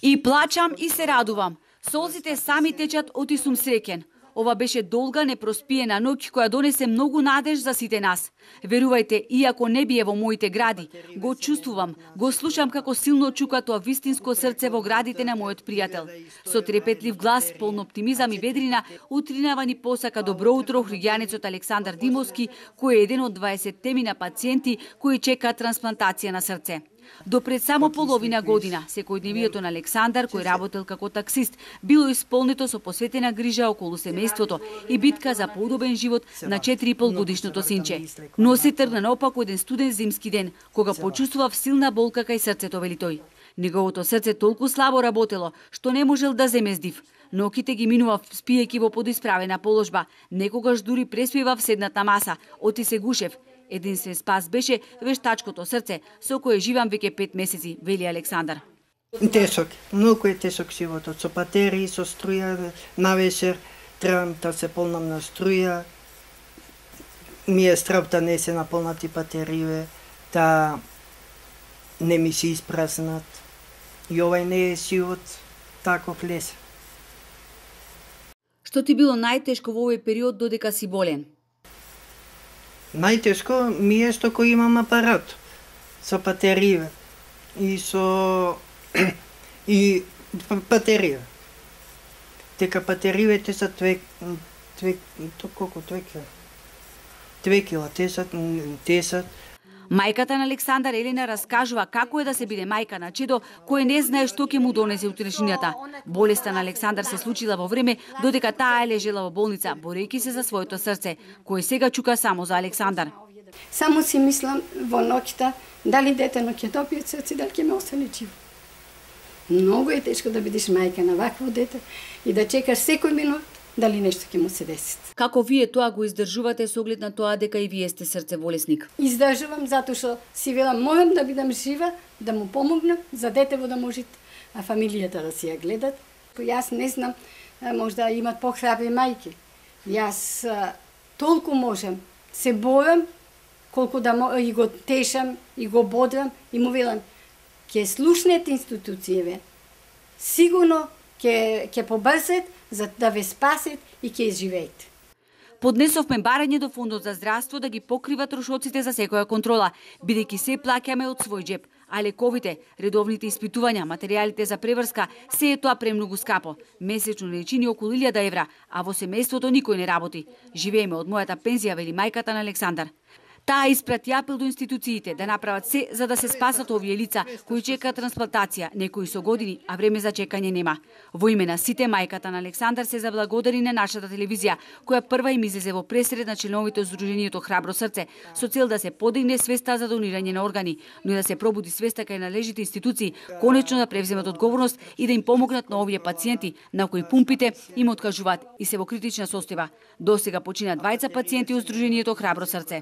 И плачам и се радувам. Солзите сами течат, оти сум среќен. Ова беше долга, непроспиена ноќ која донесе многу надеж за сите нас. Верувајте, иако не бие во моите гради, го чувствувам, го слушам како силно чука тоа вистинско срце во градите на мојот пријател. Со трепетлив глас, полн оптимизам и ведрина, утринава ни посака добро утро хригјанецот Александар Димовски, кој е еден од 20 пациенти кои чекаат трансплантација на срце. До пред само половина година, секојдневието на Александар, кој работел како таксист, било исполнето со посветена грижа околу семејството и битка за поудобен живот на 4,5 годишното синче. Но се тргна наопаку еден студен зимски ден, кога почувствував силна болка кај срцето, вели тој. Неговото срце толку слабо работело, што не можел да земе здив. Ноките ги минував спиејќи во подисправена положба, некогаш дури преспивав седнат на маса, оти се гушев. Единствен спас беше вештачкото срце, со кое живам веќе 5 месеци, вели Александар. Тесок, многу е тесок животот, со патерии, со струја, на вечер требам да се полнам на струја, ми е страв да не се наполнати патерије, да не ми се испразнат. И овај не е живот таков лес. Што ти било најтешко во овој период додека си болен? Најтешко ми е што кој имам апарат со патерија и со патерија. Дека патеријите се 2 кила, тесат. Мајката на Александар, Елена, раскажува како е да се биде мајка на чедо кој не знае што ќе му донесе утрешнината. Болеста на Александар се случила во време додека таа е лежела во болница, борејќи се за своето срце, кое сега чука само за Александар. Само си мислам во ноќта дали детено ќе добие срце, дали ќе ме остане живо. Многу е тешко да бидеш мајка на вакво дете и да чекаш секој минут дали нешто ќе му се деси. Како вие тоа го издржувате со оглед на тоа дека и вие сте срцеболесник? Издржувам затоа што си велам можам да бидам жива, да му помогнам за детево да може фамилијата да си ја гледат. Јас не знам, можда имат похрабри мајки. Јас толку можам, се борам, колку да и го тешам, и го бодрам, и му велам, ќе слушнете институцијеве, сигурно ќе побрзат за да ве спасет и ќе изживеете. Поднесовме барање до Фондот за здравство да ги покрива трошоците за секоја контрола, бидејќи се плаќаме од свој џеп. А лековите, редовните испитувања, материјалите за преврска, се е тоа премногу скапо. Месечно лечини околу 1000 евра, а во семејството никој не работи. Живееме од мојата пензија, вели мајката на Александар. Таа испрати апел до институциите да направат се за да се спасат овие лица кои чекаат трансплантација, некои со години, а време за чекање нема. Во име на сите, мајката на Александар се заблагодари на нашата телевизија, која прва им излезе во пресред на членовите од Сдруженијето Храбро срце, со цел да се подигне свеста за донирање на органи, но и да се пробуди свеста кај належните институции, конечно да превземат одговорност и да им помогнат на овие пациенти, на кои пумпите им откажуваат и се во критична состојба. Досега почина 20 пациенти од Сдруженијето Храбро срце.